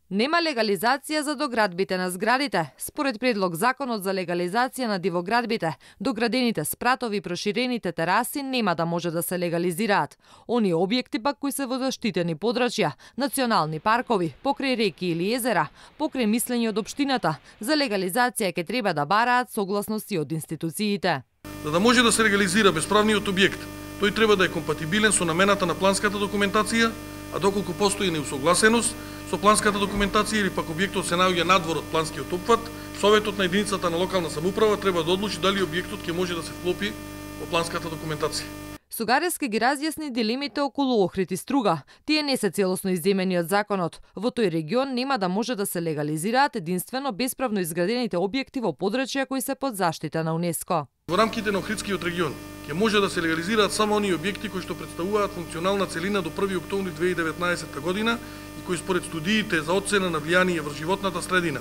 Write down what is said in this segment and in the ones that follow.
Нема легализација за доградбите на зградите. Според предлог законот за легализација на дивоградбите, доградените спратови и проширените тераси нема да може да се легализираат. Оние објекти пак кои се во заштитени подрачја, национални паркови, покрај реки или езера, покрај мислење од општината, за легализација ќе треба да бараат согласности од институциите. За да може да се легализира бесправниот објект, тој треба да е компатибилен со намената на планската документација, а доколку постои неусогласеност со планската документација или пак објектот се наоѓа надвор од планскиот опфат, Советот на единицата на локална самоуправа треба да одлучи дали објектот ќе може да се вклопи во планската документација. Сугарески ги разјасни дилемите околу Охрид и Струга. Тие не се целосно изземени од законот. Во тој регион нема да може да се легализираат единствено бесправно изградените објекти во подрачја кои се под заштита на УНЕСКО. Во рамките на Охридскиот регион ќе може да се легализираат само оние објекти кои што представуваат функционална целина до 1 октомври 2019 година и кои според студиите за оцена на влијание врз животната средина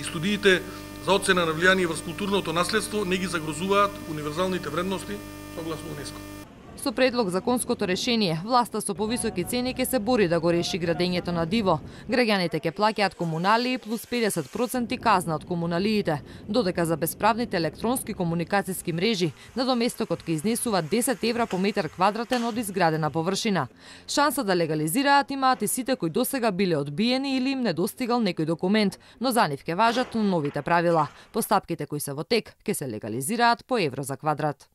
и студиите за оцена на влијание врз културното наследство не ги загрозуваат универзалните вредности согласно УНЕСКО. Со предлог законското решение, власта со повисоки цени ќе се бори да го реши градењето на диво. Граѓаните ќе плаќаат комуналии плюс 50% казна од комуналиите, додека за бесправните електронски комуникацијски мрежи надоместокот ќе изнесува 10 евра по метар квадратен од изградена површина. Шанса да легализираат имаат и сите кои досега биле одбиени или им недостигал некој документ, но за нив ќе важат новите правила. Постапките кои се во тек ќе се легализираат по евро за квадрат.